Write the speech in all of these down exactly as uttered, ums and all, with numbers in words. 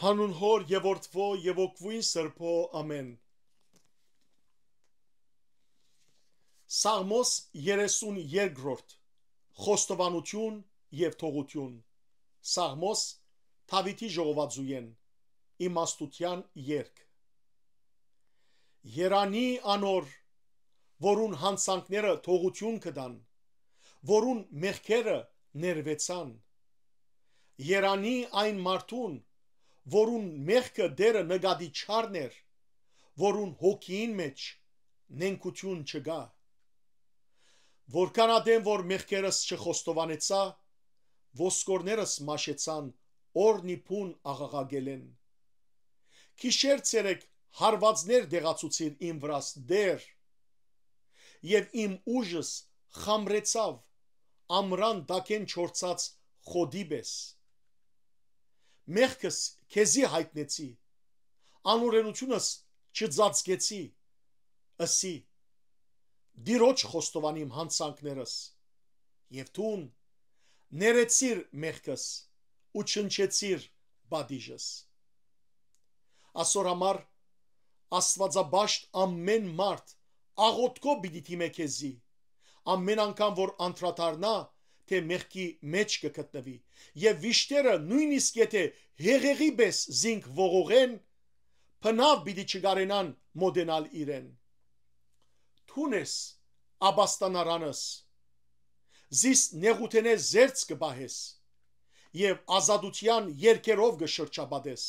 Անուն Հօր եւ Որդւոյ եւ Հոգւոյն Սրբոյ, ամէն։ Սաղմոս երեսուն երկրորդ։ Խոստովանութիւն եւ թողութիւն։ Սաղմոս Դաւիթի ժողովածուէն, իմաստութեան երգ։ Երանի անոր, որուն յանցանքները թողութիւն կը տան, որուն մեղքերը ներուեցան։ Երանի այն մարդուն, որուն մեղքը Տէրը նկատի չառներ, որուն հոգիին մէջ նենգութիւն չկայ։ Որքան ատեն որ մեղքերս չխոստովանեցայ, ոսկորներս մաշեցան օրնի բուն աղաղակելէն։ Գիշեր ցերեկ հարուածներ դեղացուցիր իմ վրաս, Տէր, եւ իմ ուժս խամրեցաւ ամրան տակէն չորցած խոտի պէս։ Մեղքս քեզի յայտնեցի, անօրէնութիւնս չծածկեցի, ըսի. «Տիրոջ խոստովանիմ յանցանքներս»։ Եւ դուն ներեցիր մեղքս ու չնչեցիր պատիժս։ Ասոր համար Աստուածապաշտ ամէն մարդ աղօթքով պիտի դիմէ քեզի, ամէն անգամ որ անդրադառնայ թէ մեղքի մէջ կը գտնուի, եւ վիշտերը, նոյնիսկ եթէ հեղեղի պէս զինք ողողեն, բնաւ պիտի չկարենան մօտենալ իրեն։ Դուն ես ապաստանարանս, զիս նեղութենէ զերծ կը պահես եւ ազատութեան երգերով կը շրջապատես։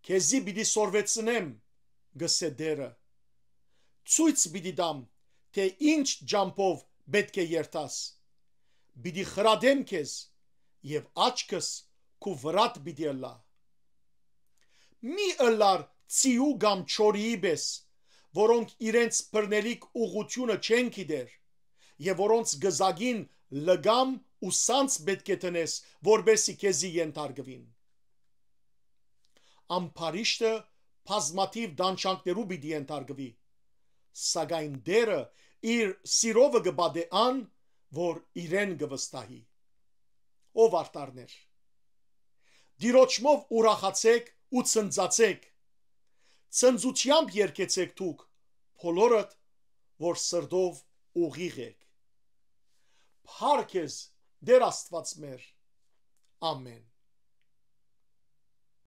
«Քեզի պիտի սորվեցնեմ», կ'ըսէ Տէրը, «ցոյց պիտի տամ թէ ինչ ճամբով պէտք է երթաս։ Պիտի խրատեմ քեզ եւ աչքս քու վրադ պիտի ըլլայ։ Մի ըլլար ձիու կամ չորիի պէս, որոնք իրենց բռնելիք ուղղութիւնը չեն գիտեր եւ որոնց գզագին լկամ ու սանձ պէտք է դնես, որպէսզի քեզի ենթարկուին։ Ամբարիշտը բազմաթիւ տանջանքներու պիտի ենթարկուի, սակայն Տէրը իր սիրովը կը պատէ ան, որ իրեն կը վստահի։ Ով արդարներ, Տիրոջմով ուրախացէք ու ցնծացէք, ցնծութեամբ երգեցէք դուք, բոլորդ որ սրտով ուղիղ էք։ Փառք ես, Տէր Աստուած մեր։ Ամէն։